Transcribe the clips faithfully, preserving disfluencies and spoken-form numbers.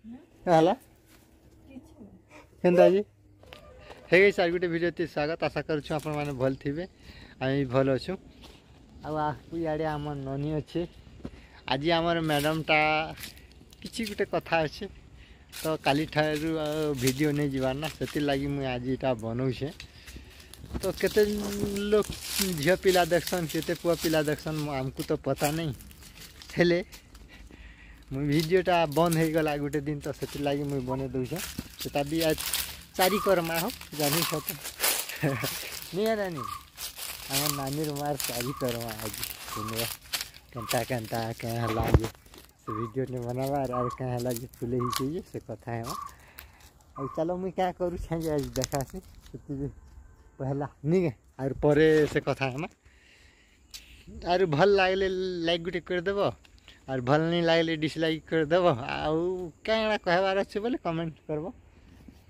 କାଁ ହେଲା? କେନ୍ତା ଆଜି? ହେ ଗାଇସ୍, ଆର୍ ଗୋଟେ ଭିଡ଼ିଓ ଥି ସ୍ୱାଗତ। ଆଶା କରୁଛୁ ଆପଣମାନେ ଭଲ ଥିବେ। ଆମେ ବି ଭଲ ଅଛୁ। ଆଉ ଆ, ଇଆଡ଼େ ଆମର ନନି ଅଛେ। ଆଜି ଆମର ମ୍ୟାଡ଼ାମଟା କିଛି ଗୋଟେ କଥା ଅଛେ, ତ କାଲିଠାରୁ ଆଉ ଭିଡ଼ିଓ ନେଇ ଯିବାର ନା, ସେଥିର୍ଲାଗି ମୁଇଁ ଆଜି ଏଇଟା ବନଉଛେ। ତ କେତେ ଲୋକ ଝିଅ ପିଲା ଦେଖସନ୍, କେତେ ପୁଅ ପିଲା ଦେଖସନ୍, ମ-, ଆମକୁ ତ ପତା ନାଇଁ। ହେଲେ ମୁଇଁ ଭିଡ଼ିଓଟା ବନ୍ଦ ହେଇଗଲା ଗୋଟେ ଦିନ, ତ ସେଥିର୍ଲାଗି ମୁଇଁ ବନେଇ ଦଉଛେ। ସେଟା ବି ଆଜ ଚାରି କର୍ମା ହୋ, ଜାନିଛ ତ। ନିଏ ନାନି, ଆମ ନାନୀର ମାର ଚାରି କର୍ମା ଆଜି। ଶୁନିବ, କେନ୍ତା କେନ୍ତା, କେଁ ହେଲା ଯେ ସେ ଭିଡ଼ିଓ ନେ ବନାବା, ଆର୍, ଆର୍ କାଁ ହେଲା ଯେ ଫୁଲେଇ ହେଇଛେ ଯେ ସେ କଥା ହେବା। ଆଉ ଚାଲ, ମୁଇଁ କାଁ କରୁଛେଁ ଯେ ଆଜି ଦେଖାସି, ସେଥିରେ ପହେଲା, ନିକେ, ଆର୍ ପରେ ସେ କଥା ହେମା। ଆର୍ ଭଲ ଲାଗିଲେ ଲାଇକ୍ ଗୋଟେ କରିଦେବ, ଆର୍ ଭଲ ନାଇଁ ଲାଗିଲେ ଡିସଲାଇକ୍ କରିଦେବ। ଆଉ କାଣା କହିବାର ଅଛି ବୋଲେ କମେଣ୍ଟ କରବ।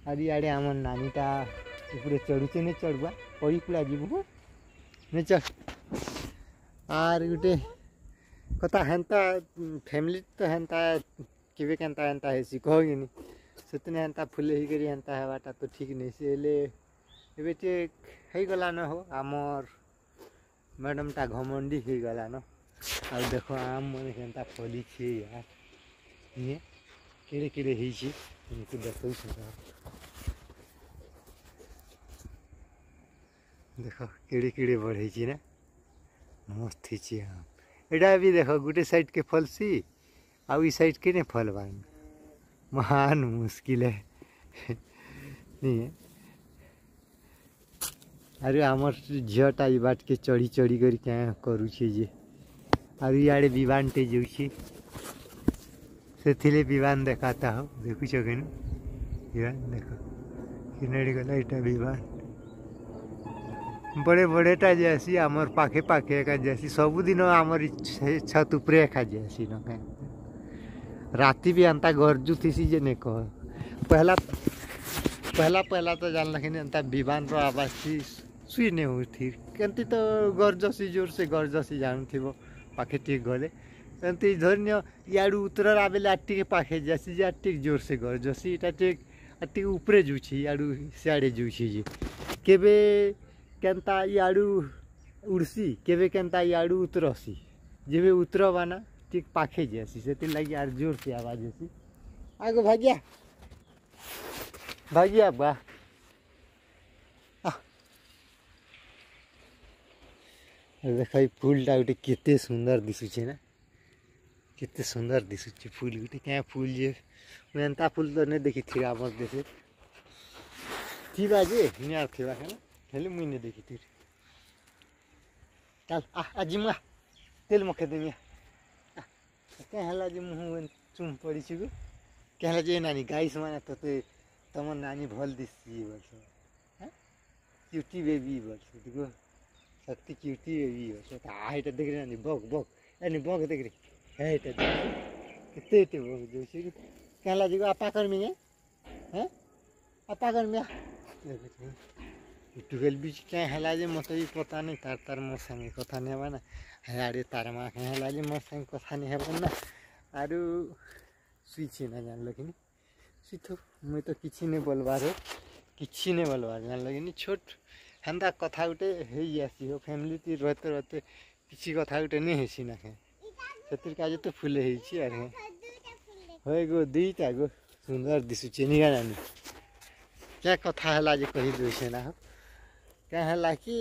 ଆର୍ ଇଆଡ଼େ ଆମର ନାନୀଟା ଉପରେ ଚଢ଼ୁଛେ, ନେ ଚଢ଼ବା, ପଡ଼ି କୁଡ଼ା ଯିବୁ, ନେ ଚଢ଼। ଆର୍ ଗୋଟେ କଥା ହେନ୍ତା, ଫ୍ୟାମିଲି ତ ହେନ୍ତା, କେବେ କେନ୍ତା ହେନ୍ତା ହେସି, କହ କିନି? ସେଦିନ ହେନ୍ତା ଫୁଲେ ହେଇକରି ହେନ୍ତା ହେବାଟା ତ ଠିକ୍ ନାଇଁ। ସେ ହେଲେ ଏବେ ଯେ ହେଇଗଲା ନ ହୋ, ଆମର ମ୍ୟାଡ଼ାମଟା ଘମଣ୍ଡି ହେଇଗଲା ନ। ଆଉ ଦେଖ, ଆମ୍ ମାନେ କେନ୍ତା ଫଲିଛେ ୟାର। ଇଏ କେଡ଼େ କେଡ଼େ ହେଇଛେ, ତୁମକୁ ଦେଖଉଛେ ତ। ଦେଖ, କେଡ଼େ କେଡ଼େ ବଢ଼େଇଛେ ନା। ମସ୍ତ ହେଇଛେ ଆମ୍। ଏଇଟା ବି ଦେଖ, ଗୋଟେ ସାଇଡ୍ କେ ଫଲସି, ଆଉ ଇ ସାଇଡ୍ କେ ନେ ଫଲବାନ। ମହାନ ମୁସ୍କିଲ ହେ। ନିଏ। ଆରେ ଆମର ଝିଅଟା ଇ ବାଟକେ ଚଢ଼ି ଚଢ଼ି କରି କାଁ କରୁଛେ ଯେ। ଆରେ ଇଆଡ଼େ ବିମାନଟେ ଯାଉଛେ। ସେଥିରେ ବିମାନ ଦେଖାତା ହଉ। ଦେଖୁଛ କେନୁ? ବିମାନ ଦେଖ। କିନାଡ଼ି ଗଲା ଏଇଟା ବିମାନ। ବଡ଼େ ବଡ଼େଟା ଯାଏସି, ଆମର ପାଖେ ପାଖେ ଏକା ଯାଏସି। ସବୁଦିନ ଆମର ଇ ଛ-, ଛାତ ଉପରେ ଏକା ଯାଏସି ନ କାଏଁ। ରାତି ବି ଏନ୍ତା ଗର୍ଜୁଥିସି ଯେ ନେ କହ। ପହଲା, ପହଲା, ପହଲା ତ ଜାଣିଲ କି ନି, ଏନ୍ତା ବିମାନର ଆବାଜ ଥି ଶୁଇ ନେ ହଉଥିର। କେନ୍ତି ତ ଗର୍ଜସି, ଜୋରସେ ଗର୍ଜସି, ଜାଣୁଥିବ, ପାଖେ ଟିକେ ଗଲେ। ଏନ୍ତି ଧରି ନିଅ, ଇଆଡ଼ୁ ଉତରର ଆବେଲେ ଆର ଟିକେ ପାଖେ ଯାଏସି ଯେ ଆର ଟିକେ ଜୋରସେ ଗର୍ଜସି, ଏଟା ଟିକେ, ଆର ଟିକେ ଉପରେ ଯାଉଛେ, ଇଆଡ଼ୁ ସିଆଡ଼େ ଯାଉଛେ ଯେ। କେବେ କେନ୍ତା ଇଆଡ଼ୁ ଉଡ଼ସି, କେବେ କେନ୍ତା ଇଆଡ଼ୁ ଉତରସି। ଯେବେ ଉତରବା ନା, ଟିକେ ପାଖେ ଯାଏସି, ସେଥିର୍ଲାଗି ଆର ଜୋରସେ ଆବାଜ ହେସି। ଆଗୋ ଭାଗିଆ, ଭାଗିଆ ବା। ଆ। ଦେଖ, ଇ ଫୁଲଟା ଗୋଟେ କେତେ ସୁନ୍ଦର ଦିଶୁଛେ ନା? କେତେ ସୁନ୍ଦର ଦିଶୁଛେ ଫୁଲ ଗୋଟେ। କାଁ ଫୁଲ ଯେ, ମୁଁ ଏନ୍ତା ଫୁଲ ତ ନେ ଦେଖିଥିବି ଆମର ଦେଶେ। ଥିବା ଯେ, ନି ଆଉ ଥିବା କେନ, ହେଲେ ମୁଇଁ ନେ ଦେଖିଥିବି। ଚାଲ, ଆ, ଆ, ଜିମୁ ଆ। ତେଲ ମଖେ ଦେମି ଆ। ଆ, କାଁ ହେଲା ଯେ ମୁହଁ ଏନ୍ ଚୁମ୍ ପଡ଼ିଛୁ ଗୁ? କାଁ ହେଲା ଯେ ନାନୀ, ଗାଇସ୍ ମାନେ ତତେ, ତମ ନାନୀ ଭଲ ଦିଶି ବୋଲସନ୍। ହାଁ? କ୍ୟୁଟି ବେବି ବୋଲସନ୍, ଦେଖ। ସକ୍ତି କ୍ୟୁଟି ବେବି ବୋଲସନ୍। ଆ, ଏଇଟା ଦେଖରେ ନାନୀ, ବଗ, ବଗ। ଏ ନି, ବଗ ଦେଖରେ। ଏ, ଏଇଟା ଦେଖ। କେତେ, ଏତେ ବଗ ଯାଉଛି। କାଁ ହେଲା ଯେ, ଆପା କରମି କେ? ହେଁ? ଆ ପାଗଲ ମିଆ। ଟୁକେଲ ବିଚ କାଁ ହେଲା ଯେ ମତେ ବି ପତା ନାଇଁ, ତାର, ତାର ମୋ ସାଙ୍ଗେ କଥା ନାଇଁ ହେବା ନା। ହେ ଆଡ଼େ ତାର ମା କାଁ ହେଲା ଯେ ମୋ ସାଙ୍ଗେ କଥା ନାଇଁ ହେବା ନା। ଆରୁ ଶୁଇଛି ନା, ଜାଣିଲ କି ନି? ଶୁଇଥ, ମୁଇଁ ତ କିଛି ନାଇଁ ବୋଲବାର, କିଛି ନାଇଁ ବୋଲବାର, ଜାଣିଲ କି ନି? ଛୋଟ ହେନ୍ତା କଥା ଗୋଟେ ହେଇଆସି ହୋ, ଫ୍ୟାମିଲି ତି ରହତେ ରହତେ କିଛି କଥା ଗୋଟେ ନାଇଁ ହେଇସି ନା କାଁ। ସେଥିର କାଜେ ତ ଫୁଲ ହେଇଛି ଆର କାଁ। ହଏ ଗୋ, ଦୁଇଟା ଗୋ। ସୁନ୍ଦର ଦିଶୁଛେ ନି କାଁ ନାନୀ। କାଁ କଥା ହେଲା ଯେ କହି ଦଉଛେ ନା ହୋ। କାଁ ହେଲା କି?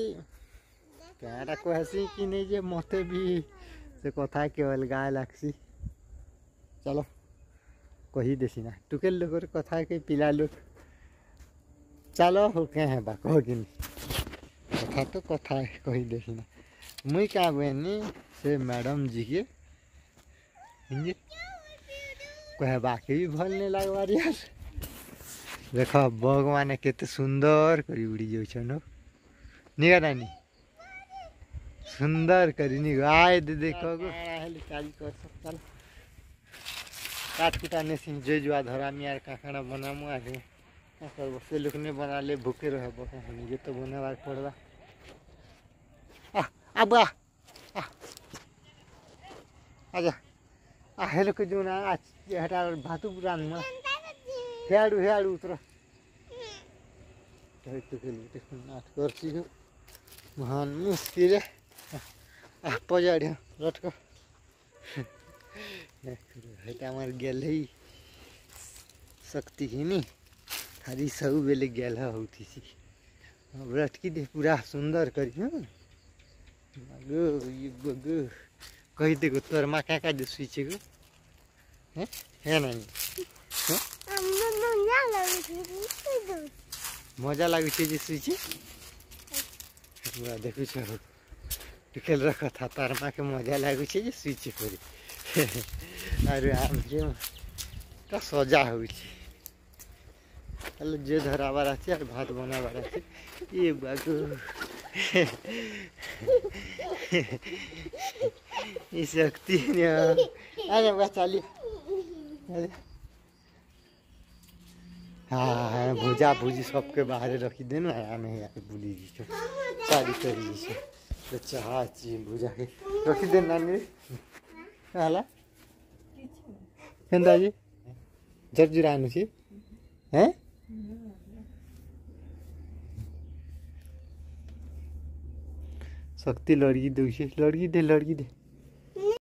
କାଁଟା କହେସି କି ନାଇଁ ଯେ ମତେ ବି ସେ କଥା କେ ଅଲଗା ଲାଗ୍ସି। ଚାଲ, କହି ଦେସି ନା। ଟୁକେଲ ଲୋକର କଥା କେ ପିଲା ଲୋକ। ଚାଲ, ହଉ, କାଁ ହେବା, କହ କି ନି? କଥା ତ କଥା, କହି ଦେସି ନା। ମୁଇଁ କାଁ ବେନି, ସେ ମ୍ୟାଡାମ ଜି କେ, ଇଞ୍ଜି, କହେବା କେ ବି ଭଲ ନାଇଁ ଲାଗବାର ୟାର। ଦେଖ, ବଗ ମାନେ କେତେ ସୁନ୍ଦର କରି ଉଡ଼ି ଯାଉଛନ୍, ନି କାଁ ନାନୀ? ସୁନ୍ଦର କରି ନି, ଆଏ ଦେ ଦେଖ ଗୋ। କାଣା ହେଲେ ଚାଲି କର, ଚାଲ। କାଠ କୁଟା ନେସି, ଯେ ଜୁଆ ଧରାମି ଆର କାଁ କାଣା ବନାମୁ ଆର। କାଁ କରବ, ସେ ଲୋକ ନେ ବନାଲେ ଭୁକେ ରହବ, କାଁ ନିଜେ ତ ବନାବାର ପଡ଼ବା। ଆ, ଆ ବା, ଆ। ଆଜା। ଆ, ହେଲେ କେ ଜୁନା, ଆ, ହେଟା ଭାତୁ ରାନ୍ଧମା। ହେଆଡୁ, ହେଆଡୁ ଉତର। ନାଟ କରୁଛି। ମହାନ ମୁସ୍କିଲ। ଆ, ପଜାଡ଼ିଆ, ଲଟକ। ଏଇଟା ଆମର ଗେଲ ହେଇ ଶକ୍ତି ହିନି। ଖାଲି ସବୁବେଳେ ଗେଲ ହଉଥିସି। ବ୍ରଟକି ଦେ ପୁରା ସୁନ୍ଦର କରି, ହଁ? ବାଗୁ, ଇ ବାଗୁ। କହିଦେ ଗୋ, ତୋର ମା କାଁ କାଁ ଯେ ଶୁଇଛେ ଗୋ? ହେଁ? ହେ ନାନୀ। ହେଁ? ମଜା ଲାଗୁଛେ ଯେ ଶୁଇଛେ। ପୁରା ଦେଖୁଛ। ଟୁକେଲର କଥା, ତାର ମାକେ ମଜା ଲାଗୁଛେ ଯେ ଶୁଇଛେ କରି। ଆରେ ଆମେ ଯେ ତ ସଜା ହଉଛେ। ହେଲେ ଯେ ଧରାବାର ଅଛି, ଆରେ ଭାତ ବନାବାର ଅଛି। ଏ ବାଗୁ। ଏ ଶକ୍ତି ନିଅ। ଆରେ ବା ଚାଲି। ଆରେ। हाँ, हाँ, हाँ, भुजा भुजी सबके बाहरे रखी देन, आमे यार बुली जी। चारी करी जी। तो चाहा ची भुजा के रखी देन नानी रे। काला? केंदा जी? झरझुरा आनु छी? हैं? शक्ति लड़की दे, लड़की दे, लड़की दे।